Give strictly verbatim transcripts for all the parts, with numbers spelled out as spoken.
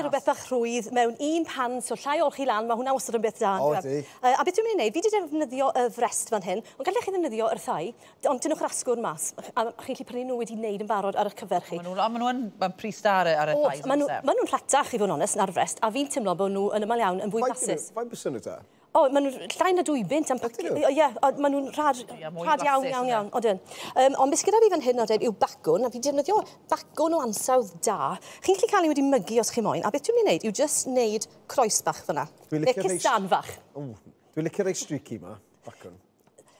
Rhywbeth bach rhwydd mewn un pan, so llai olchi lan, mae hwnna wastad yn beth da. O, ydi. Uh, a beth dwi'n mynd i wneud, fi wedi defnyddio y frest fan hyn, ond gallech chi ddefnyddio yr thai, ond tynnwch yr asgwrn mas, a chi'n gallu prynu nhw wedi wneud yn barod ar eich cyfer chi. Maen nhw'n ma nhw yn pris da ar, ar y thighs. Maen nhw'n nhw rhatach, i fod yn onest, na'r frest, a fi'n teimlo bod nhw yn ymlaen iawn yn fwy blasus. Faint bys nhw ta? O, maen nhw'n llai na dwy bunt am pac... Ie, maen nhw'n rhad, rhad iawn, iawn, iawn. Odyn. Um, ond beth gyda fi fan hyn odyn yw bacwn, a fi defnyddio bacwn o ansawdd da. Chi'n gallu cael ei wedi mygu os chi moyn, a beth dwi'n mynd i wneud yw just wneud croes bach fyna. Neu cusan fach. Dwi'n licio rei streaky ma, bacwn.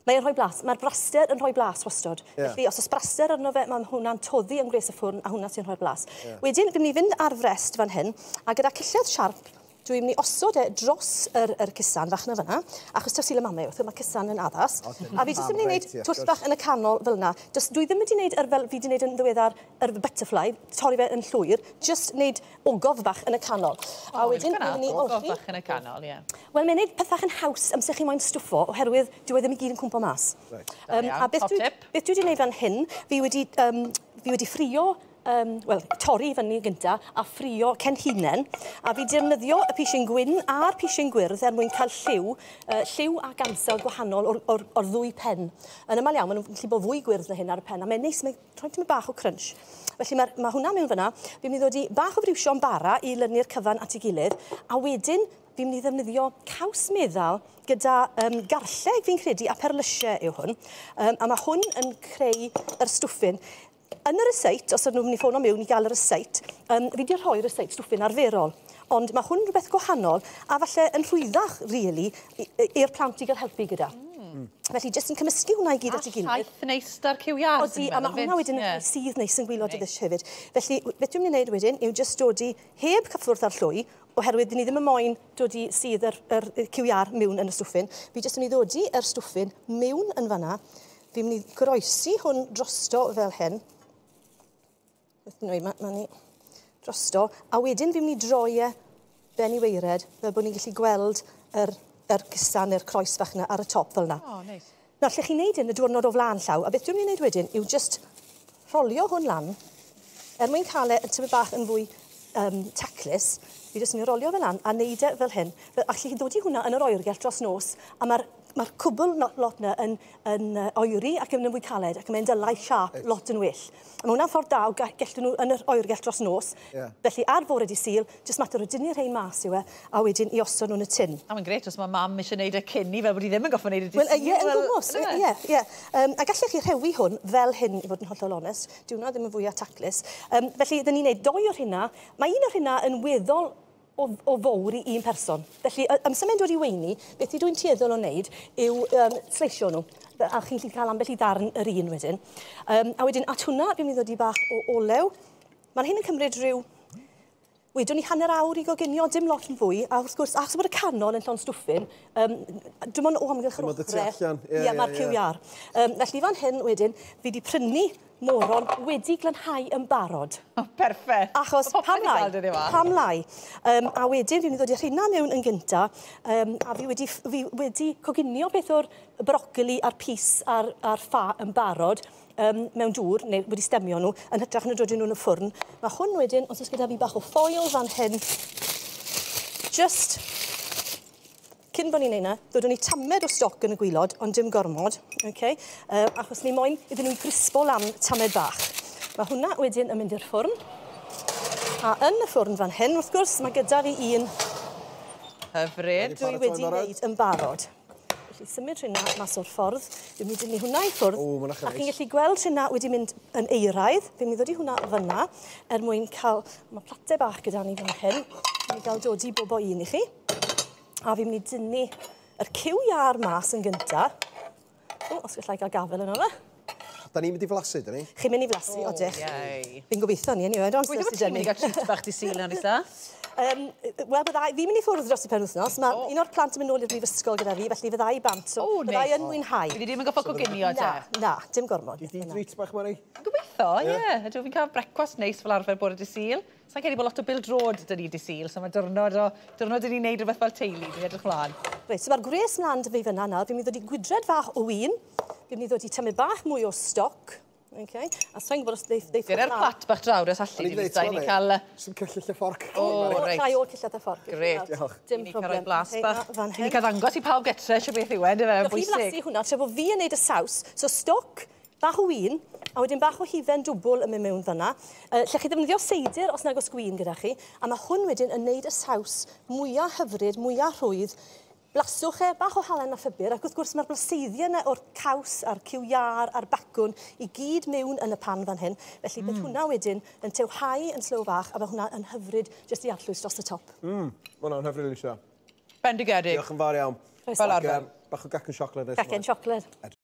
Mae'n rhoi blas. Mae'r braster yn rhoi blas wastod. Yeah. Felly, os oes braster arno fe, mae hwnna'n toddi yn gwres y ffwrn, a hwnna sy'n rhoi'r blas. Yeah. Wedyn, fi'n mynd i fynd ar frest fan hyn, a gyda cillell siarp, dwi'n mynd i osod e dros yr, yr cusan fach na fyna, achos taw Sul y Mamau wrth, mae cusan yn addas. O, a fi jyst yn mynd i wneud twll bach yn y canol fel yna. Just, dwi ddim wedi wneud yr, fel fi wedi wneud yn ddiweddar, yr butterfly, torri fe yn llwyr, just wneud ogof bach yn y canol. O, a wedyn, dwi'n mynd i ogof bach yn y canol, ie. Yeah. Wel, mae'n gwneud pethach yn haws amser chi moyn stwffo, oherwydd dyw e ddim i gyd yn cwmpo mas. Right. Um, a beth dwi, beth dwi wedi wneud fan hyn, fi wedi, um, fi wedi ffrio, Um, wel, torri fyny gynta a ffrio cenhinen, a fi defnyddio y pisyn gwyn a'r pisyn gwyrdd er mwyn cael lliw, uh, lliw ac ansawdd gwahanol o'r, or, or ddwy pen. Yn ymlaen iawn, maen nhw'n gallu bod fwy gwyrdd na hyn ar y pen, a mae'n neis, mae'n rhoi tymed bach o crunch. Felly mae, mae hwnna mewn fyna. Fi'n mynd i ddod i bach o friwsion bara i lynu'r cyfan at ei gilydd, a wedyn fi'n mynd i ddefnyddio caws meddal gyda um, garlleg, fi'n credu, a perlysiau yw hwn. Um, a mae hwn yn creu yr stwffin. Yn y ryseit, os ydyn nhw'n mynd i ffono mewn i gael y ryseit, um, fi wedi rhoi ryseit stwffin arferol. Ond mae hwn rhywbeth gwahanol, a falle yn rhwyddach, really, i'r plant i gael helpu gyda. Mm. Felly, jyst yn cymysgu hwnna i gyd at ei gilydd. A llaeth neis da'r cyw iâr. Odi, a mae hwnna wedyn yn yeah. sydd neis yn gwylod y ddish hefyd. Felly, beth dwi'n mynd i wneud wedyn yw jyst dod i heb cyffwrdd ar llwy, oherwydd ni ddim yn moyn dod i sydd yr, yr, yr cyw iâr mewn yn y stwffin. Fi jyst yn mynd i ddod i yr stwffin mewn yn fanna. Fi'n mynd i groesi hwn drosto fel hyn. Mae ma ni drosto. A wedyn fi'n mynd i droi e ben i weired, fel bod ni'n gallu gweld yr, yr cusan neu'r croes fach yna ar y top fel yna. Oh, neis. Nawr, lle chi'n neud hyn y diwrnod o flaen llaw, a beth dwi'n mynd i wneud wedyn yw just rolio hwn lan, er mwyn cael e tymed bach yn fwy um, taclus, fi jyst yn mynd i rolio fel lan a neud e fel hyn. Fel, allwch chi ddod i hwnna yn yr oergell dros nos, a mae'r mae'r cwbl lot yna yn, yn oeri ac yn fwy caled ac yn mynd dylai siâp lot yn well. A mae hwnna'n ffordd da o gellwn nhw yn yr oergell dros nos. Yeah. Felly ar fore di Sul, jyst mater o dynnu'r rhain mas yw e, a wedyn i osod nhw'n y tin. A mae'n grêt os mae mam eisiau gwneud y cyn i fel bod hi ddim yn gorfod gwneud y di Sul. Wel, ie, yn gwmws. Ie, ie. Um, a gallech chi rhewi hwn fel hyn, i fod yn hollol onest. Dyw hwnna ddim yn fwyaf taclus. Um, felly, dyn ni'n gwneud doi o'r hynna. Mae un o'r hynna yn weddol o, o fawr i un person. Felly, amser mae'n dod i weini, beth i dwi'n tueddol o wneud yw um, sleisio nhw. A chi'n gallu cael ambell i ddarn yr un wedyn. Um, a wedyn, at hwnna, fi'n mynd i ddod i bach o olew. Mae'n hyn yn cymryd rhyw... Wedwn ni hanner awr i goginio, dim lot yn fwy, a wrth gwrs, achos bod y canol yn llond stwffin, um, dim ond o amgylch yr ochrau. Ie, yeah, mae'r cyw iâr. Um, felly fan hyn wedyn, fi wedi prynu moron wedi glanhau yn barod. Oh, perffaith. Achos pam lai, pam lai. Um, a wedyn fi'n mynd i ddod i'r rheina mewn yn gynta, um, a fi wedi, fi wedi coginio beth o'r brocoli a'r pys a'r, a'r ffa yn barod, um, mewn dŵr, neu wedi stemio nhw, yn hytrach na dod nhw'n y ffwrn. Mae hwn wedyn, os oes gyda fi bach o ffoil fan hyn, just cyn bod ni'n neud 'na, ddodwn ni tamed o stoc yn y gwylod, ond dim gormod, okay? uh, achos ni moyn iddyn nhw'n grispo lan tamed bach. Mae hwnna wedyn yn mynd i'r ffwrn. A yn y ffwrn fan hyn, wrth gwrs, mae gyda fi un hyfryd dwi wedi wneud yn barod. Felly symud rhywna mas o'r ffordd. Dwi'n mynd i dynnu hwnna i ffwrdd. O, a chi'n gallu gweld rhywna wedi mynd yn eiraidd. Fi'n mynd i ddod i hwnna fyna er mwyn cael... Mae platau bach gyda ni fan hyn. Fi'n gael dod i bob o un i chi. A fi'n mynd i dynnu yr cyw iâr mas yn gynta. O, os gallai gael gafel yno fe. Da ni'n mynd i flasu, da ni? Chi'n mynd i flasu, oh, odych. Fi'n gobeithio ni, anyway. Gweithio bod ti'n mynd i gael treat bach di Sul na, Lisa? Um, Wel, byddai, fi'n mynd i ffwrdd dros y penwythnos. Mae oh. un o'r plant yn mynd nôl i'r brifysgol gyda fi, felly fyddai bant, so oh, fyddai yn mwynhau. Fi ddim yn gorfod coginio, te? Na, na, dim gormod. Di di treat bach, Mari? Gobeithio, ie. Yeah. Ydw fi'n cael brecwast neis fel arfer bore dy Sul. Sa'n credu bod lot o bêl-droed 'da ni dy Sul, so mae diwrnod o diwrnod 'da ni'n neud rhywbeth fel teulu, dwi'n edrych mlaen. Reit, so mae'r gwres mlaen 'da fi fyna nawr. Fi'n mynd i ddod i gwydred fach o win. Fi'n mynd i ddod i tymed bach mwy o stoc. Okay. A sa'n gwybod os ddeith... ddeith Dyna'r plat bach draw, os allu di Lisa, i ni cael... Sy'n cyllill y fforc. O, reit. Llai o cyllell y fforc. Gret. Diolch. Dim problem. Ni cael rhoi blas bach. Ni cael ddangos i pawb getre eisiau beth yw e, yndyfe, yn bwysig. Chi flasu hwnna, tra bod fi yn neud y saws. So stoc, bach o win, a wedyn bach o hufen dwbl yn mynd mewn fyna. Uh, lle chi ddefnyddio seidr os nag oes gwin gyda chi, a mae hwn wedyn yn neud y saws mwyaf hyfryd, mwyaf rhwydd. Blaswch e, bach o halen a phupur, ac wrth gwrs mae'r blaseiddiau yna o'r caws a'r cyw iâr a'r bacwn i gyd mewn yn y pan fan hyn. Felly mm. bydd hwnna wedyn yn tewhau yn slow fach, a mae hwnna yn hyfryd jyst i arllwys dros y top. Mm, mae hwnna'n hyfryd, Lisa. Bendigedig. Diolch yn fawr iawn. Fel arfer. Bach o gacen siocled. Gacen siocled. Edrych